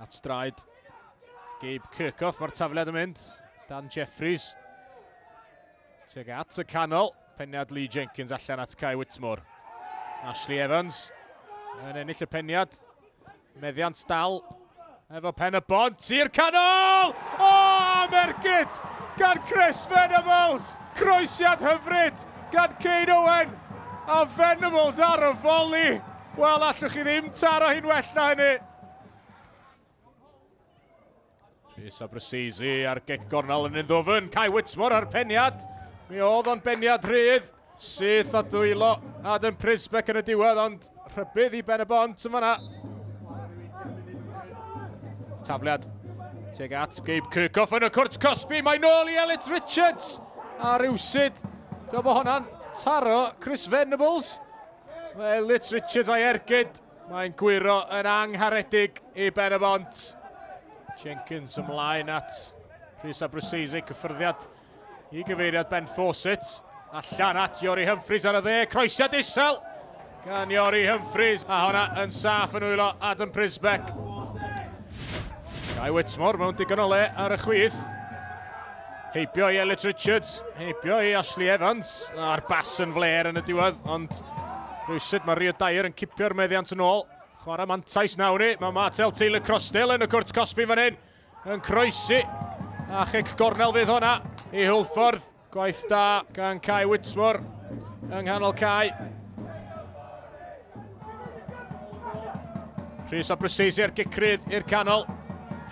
At draed Gabe Kirchhoff, mae'r tafliad yn mynd. Dan Jeffries. Tuag at y canol. Peniad Lee Jenkins allan at Kai Whitmore. Ashley Evans yn ennill y peniad. Meddiant dal efo Pen-y-bont i'r canol! O, am ergyd gan Chris Venables! Croesiad hyfryd gan Kane Owen! A Venables ar y foli! Wel, allwch chi ddim taro hi'n well na hynny. Rhys Abrasesi ar gic gornel yn un. Kai Whitmore ar peniad. Mi oedd o'n beniad rhydd. Syth at ddwylo Adam Prisbeck yn y diwedd, ond rhybudd i Ben-y-bont yn fanna. Tafliad tuag at Gabe Kirchhoff yn y cwrt cosbi. Mae nôl i Elliot Richards. A rywsud, dwi'n bod hwnna'n taro Chris Venables. Mae Elliot Richards a'i ergyd. Mae'n gwyro yn angharedig i Ben-y-bont. Jenkins ymlaen at Rhys Abrasesi, cyffyrddiad i gyfeiriad Ben Fawcett. Allan at Iori Humphreys ar y dde, croesiad isel gan Iori Humphreys. A hwnna yn saff yn wylo Adam Prisbeck. Guy Whitmore mewn digon o le ar y chwith. Heibio i Elliot Richards, heibio i Ashley Evans. A'r bas yn fler yn y diwedd, ond rywsut mae Rio Dyer yn cipio'r meddiant yn ôl. Chwarae mantais nawr ni. Mae Martel Taylor Crossdale yn y cwrt cosbi fan hyn. Yn croesi. A chic gornel fydd hwnna i Hwlffordd. Gwaith da gan Kai Whitmore yng nghanol cae. Rhys Abrasesi ar gic rydd i'r canol.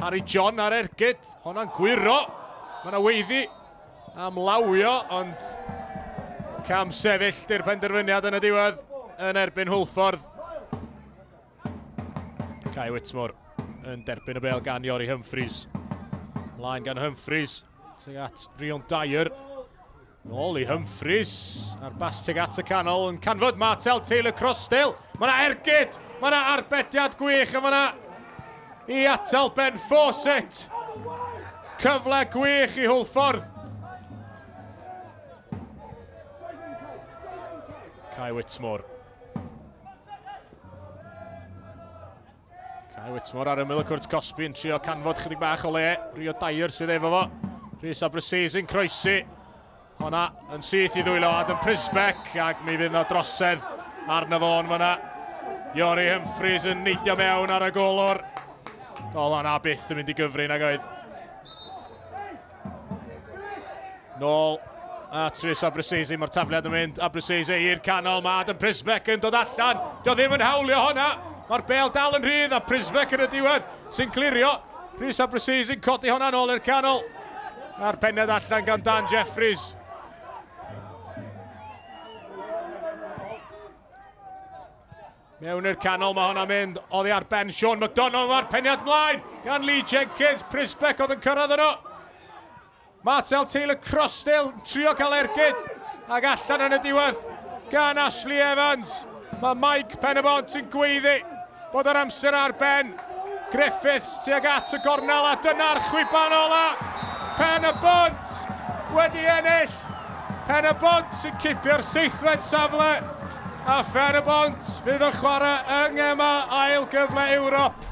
Harry John ar ergyd. Honna'n gwyro. Mae yna weiddi am lawio, ond cam sefyll di'r penderfyniad yn y diwedd yn erbyn Hwlffordd. Kai Whitmore yn derbyn y bêl gan Iori Humphreys. Mlaen gan Humphreys tuag at Rion Dyer. Nôl i Humphreys a'r bas tuag at y canol yn canfod Martel Taylor Crossdale. Mae yna ergyd, mae yna arbediad gwych a mae yna i atal Ben Fawcett. Cyfle gwych i Hwlffordd. Kai Whitmore. Kai Whitmore ar ymyl y cwrt cosbi yn trio canfod chydig bach o le. Rio Dyer sydd efo fo. Rhys Abrasesi'n croesi. Honna yn syth i ddwylo Adam Prisbeck ac mi fydd yna drosedd arno fo yn fanna. Iori Humphreys yn neidio mewn ar y golwr. Doedd hwnna byth yn mynd i gyfri nag oedd. Nôl at Rhys Abrasesi, mae'r tafliad yn mynd. Abrasesi i'r canol, mae Adam Prisbeck yn dod allan. Dio ddim yn hawlio hwnna. Mae'r bêl dal yn rhydd a Prisbeck yn y diwedd sy'n clirio. Rhys Abrasesi'n codi hwnna nôl i'r canol. A'r pennod allan gan Dan Jeffries. Mewn i'r canol mae hwnna'n mynd oddi ar ben Sean McDonald, mae'r peniad mlaen gan Lee Jenkins. Prisbeck oedd yn cyrraedd yno. Martel Taylor Crossdale yn trio cael ergyd ac allan yn y diwedd gan Ashley Evans. Mae Mike Pen-y-bont yn gweiddi bod yr amser ar ben. Griffiths tuag at y gornel a dyna'r chwiban ola. Pen-y-bont wedi ennill. Pen-y-bont sy'n cipio'r seithfed safle. A Pen-y-bont fydd yn chwarae yng Ngema ail gyfle Ewrop.